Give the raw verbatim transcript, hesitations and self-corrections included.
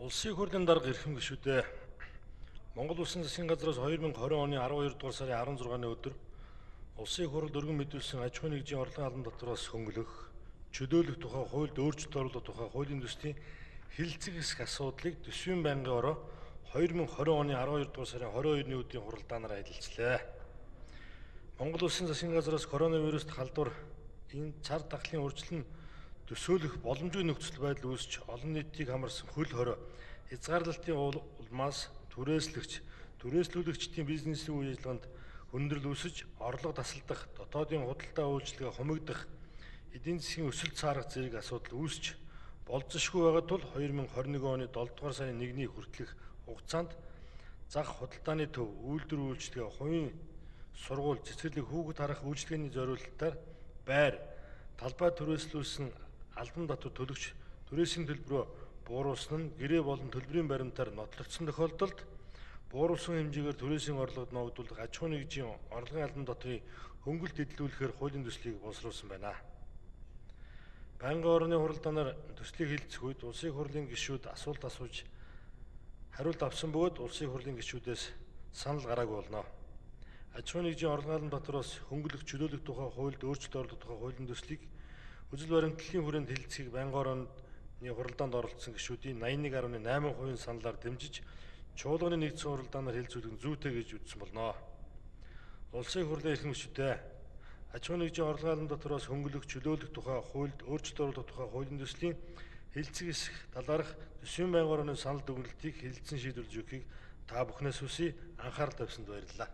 Улсын хурлын дарга эрхэм гишүүдээ Монгол Улсын засгийн газраас two thousand twenty оны twelve дугаар сарын sixteen-ны өдөр Улсын хурл өргөн мэдүүлсэн аж ахуй нэгжийн орлогын албан татвараас хөнгөлөх, чөлөөлөх тухай хуульд өөрчлөлт оруулах тухай хуулийн төслийн хэлэлцэх хэсэг асуудлыг төсвийн байнгын ороо two thousand twenty оны twelve дугаар сарын twenty-two-ны өдрийн хуралдаанаар хэлэлцлээ. Монгол Улсын засгийн газраас коронавируст халдвар энэ цар тахлын урьдчилан төсөөлөх боломжгүй нөхцөл байдал үүсч олон нийтийг хамарсан хөл хорой хязгаарлалтын улмаас түрээслэгч, түрээслүүлэгчдийн бизнесийн үйл ажиллагаанд хүндрэл үүсэж, орлого тасалдах, дотоодын худалдаа үйлчилгээ хумигдах, эдийн засгийн өсөлт саарах зэрэг асуудал үүсч болзошгүй байгаа тул two thousand twenty-one оны seven дугаар сарын one-ний хүртэлх хугацаанд зах худалдааны төв, үйлдвэр үйлчилгээ, хувийн сургууль, цэцэрлэг, хүүхэд харах үйлчилгээний зориулалтаар байр, талбай түрээслүүлсэн албан татвар төлөгч түрээсийн төлбөрөө бууруулсан нь гэрээ болон төлбөрийн баримтаар нотлогдсон тохиолдолд бууруулсан хэмжээгээр түрээсийн орлогод ногдуулах аж ахуй нэгжийн орлогын албан татврыг хөнгөлөлт эдлүүлэхээр хуулийн төслийг боловсруулсан байна. Байнгын орны хуралдаанаар төслийг хэлэлцэх үед улсын хурлын гишүүд асуулт асууж хариулт авсан бөгөөд улсын хурлын гишүүдээс санал гараагүй болно. Аж ахуй нэгжийн орлогын албан татвараас хөнгөлөх, чөлөөлөх тухай хуульд өөрчлөлт оруулах тухай хуулийн төслийг үзэл баримтлалын хүрээнд хэлэлцэхийг байнгын орны хуралдаанд оролцсон гишүүдийн eighty-one point eight percent саналаар дэмжиж чуулганы нэгдсэн хуралдаанаар хэлэлцүүлэх нь зүйтэй гэж үзсэн болно. Улсын хурлын эрхэм гишүүдээ аж ахуй нэгжийн орлогын албан татвараас хөнгөлөх, чөлөөлөх тухай хуульд өөрчлөлт оруулах тухай хуулийн төслийн хэлэлцэх хэсэг талаарх төсвийн байнгын орны санал дүгнэлтийг хэлэлцэн шийдвэрлэж өгөхийг та бүхнээс хүсье. Анхаарал тавьсанд баярлалаа.